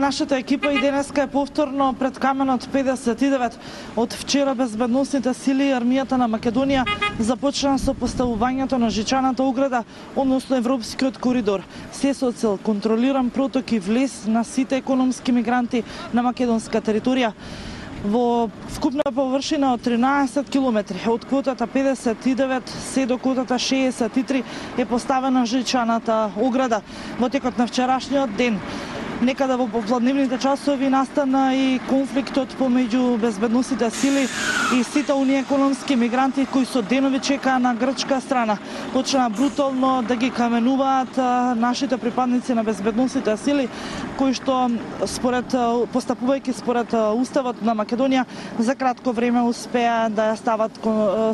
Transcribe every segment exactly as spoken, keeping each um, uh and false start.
Нашата екипа и денеска е повторно пред каменот педесет и девет. Од вчера безбедносните сили и армијата на Македонија започна со поставувањето на жичаната ограда, односно европскиот коридор. Се со цел контролиран проток и влез на сите економски мигранти на македонска територија. Во вкупна површина од тринаесет километри, од квотата педесет и девет се до квотата шеесет и три е поставена жичаната ограда. Во текот на вчерашниот ден некада во попладневните часови настана и конфликтот помеѓу безбедносните сили и сите оние економски мигранти кои со денови чекаа на грчка страна. Почна брутално да ги каменуваат нашите припадници на безбедносните сили, кои што според постапувајќи според уставот на Македонија за кратко време успеа да ја стават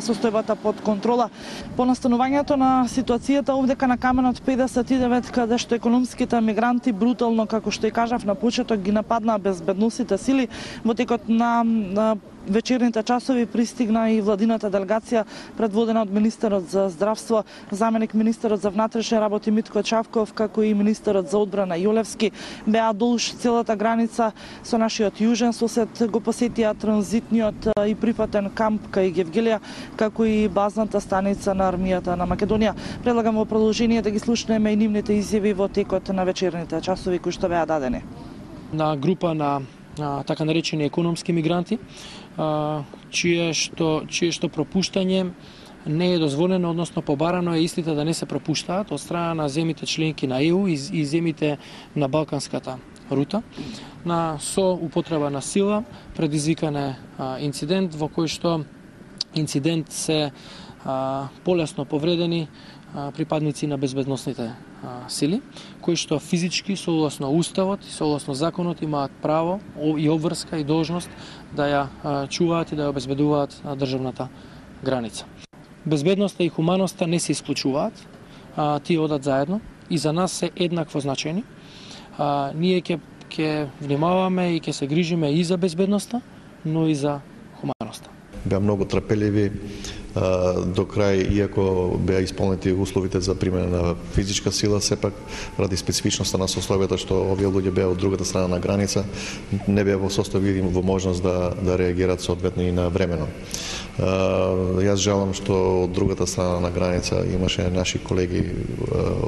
состојбата под контрола. По настанувањето на ситуацијата овдека на каменот педесет и девет, каде што економските мигранти брутално, како што и кажав на почеток, ги нападнаа безбедносните сили, во текот на, на вечерните часови пристигна и владината делегација предводена од министерот за здравство, заменик министерот за внатрешни работи Митко Чавков, како и министерот за одбрана Јолевски. Беа долж целата граница со нашиот јужен сосед, го посетија транзитниот и прифатен камп кај Гевгелија, како и базната станица на армијата на Македонија. Предлагам во продолжение да ги слушнеме и нивните изјави во текот на вечерните часови кои што беа дадени. На група на а, така наречени економски мигранти, а, чие што чие што пропуштање не е дозволено, односно побарано е истите да не се пропуштаат од страна на земите членки на Е У и, и земите на Балканската рута. На со употреба на сила предизвикан е а, инцидент во кој што инцидент се а, полесно повредени а, припадници на безбедносните а, сили, кои што физички согласно уставот и согласно законот имаат право и обврска и должност да ја а, чуваат и да ја обезбедуваат а, државната граница. Безбедноста и хуманоста не се исклучуваат, а, тие одат заедно и за нас се еднакво значени. А, ние ќе ќе внимаваме и ќе се грижиме и за безбедноста, но и за хуманоста. Беа многу трпеливи до крај, иако беа исполнети условите за примена на физичка сила, сепак ради специфичноста на состојбата што овие луѓе беа од другата страна на граница, не беа во состојби и во можност да да реагираат соодветно и на времено. Јас жалам што од другата страна на граница имаше наши колеги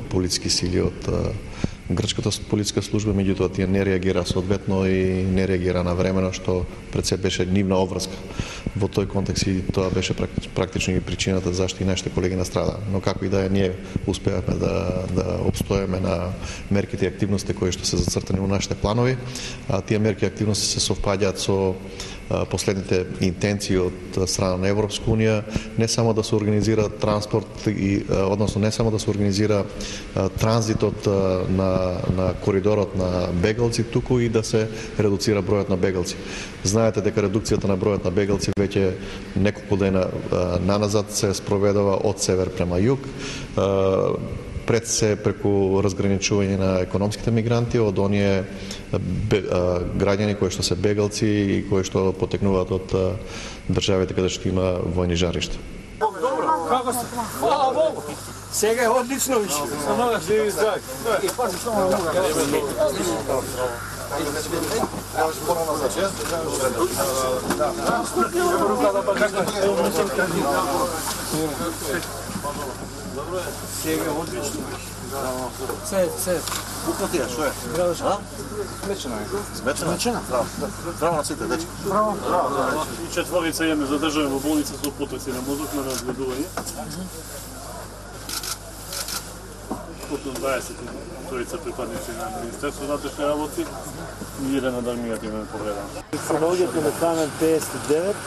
полициски сили од грчката полициска служба, меѓутоа тие не реагира соодветно и не реагира на времено, што пред се беше нивна обврска. Во тој контекст и тоа беше практично и причината зашто и нашите колеги настрада. Но како и да е, ние успеавме да да обстоеме на мерките и активности кои што се зацртани во нашите планови, а тие мерки и активности се совпаѓаат со последните интенции од страна на Европска унија, не само да се организира транспорт и односно не само да се организира транзитот на на коридорот на бегалци, туку и да се редуцира бројот на бегалци. Знаете дека редукцијата на бројот на бегалци веќе неколку дена наназад се спроведува од север према југ. Пред се преку разграничување на економските мигранти од оние граѓани кои што се бегалци и кои што потекнуваат од државите каде што има војни жаришта. Добро, како се? Слава Богу. Сега е одлично више. Со нога живи здрав. И пази што му мога. Добро е. Сега е одлично више. Се, се. Букнатија, што е? А? Смечена е. Смечена? Смечена? Браво. Браво на сите, дечки. Браво. Браво. И четворица јаме задржани во болница со потоци на мозок на разгледување. Потом дваесет тројца припадници на Министерство за внатрешни работи и еден од армијата имаме повреден. Се наоѓате на камен педесет и девет,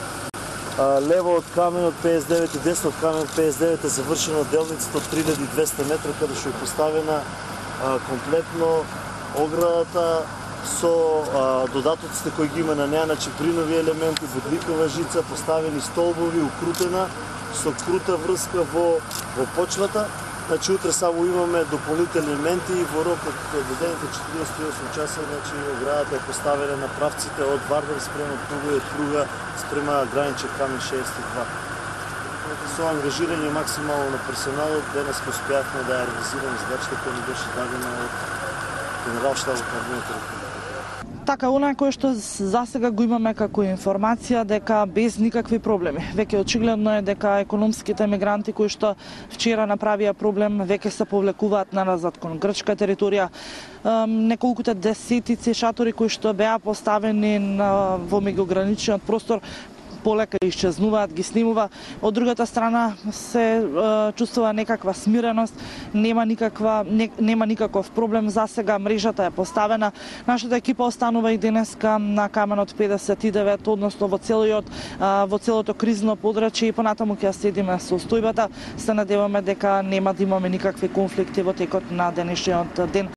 лево од каменот педесет и девет и десно од камен педесет и девет е завршена делницата од три илјади и двесте метра, каде што е поставена а, комплетно оградата со а, додатоците кои ги има на неа, значи бринови елементи, водликова жица, поставени столбови, укрутена со крута врска во во почвата. Значи утре само имаме дополнителни елементи и во рок од додените четириесет и осум часа, значи оградата е поставена на правците од Вардар спрема Пруга и од Пруга спрема граничен камен шеесет и два. Со ангажирање максимално на персоналот, денес успеавме да ја реализираме задачата која ни беше дадена од генерал-штабот на Армијата. Така, она кој што засега го имаме како информација дека без никакви проблеми. Веќе очигледно е дека економските мигранти кои што вчера направија проблем веќе се повлекуваат назад кон грчка територија. Неколкуте десетици шатори кои што беа поставени на, во меѓуграничниот простор полека исчезнуваат, ги снимува. Од другата страна се е, чувствува некаква смиреност, нема никаква не, нема никаков проблем за сега, мрежата е поставена. Нашата екипа останува и денеска на каменот педесет и девет, односно во целиот во целото кризно подрачје и понатаму ќе следиме состојбата. Се надеваме дека нема да имаме никакви конфликти во текот на денешниот ден.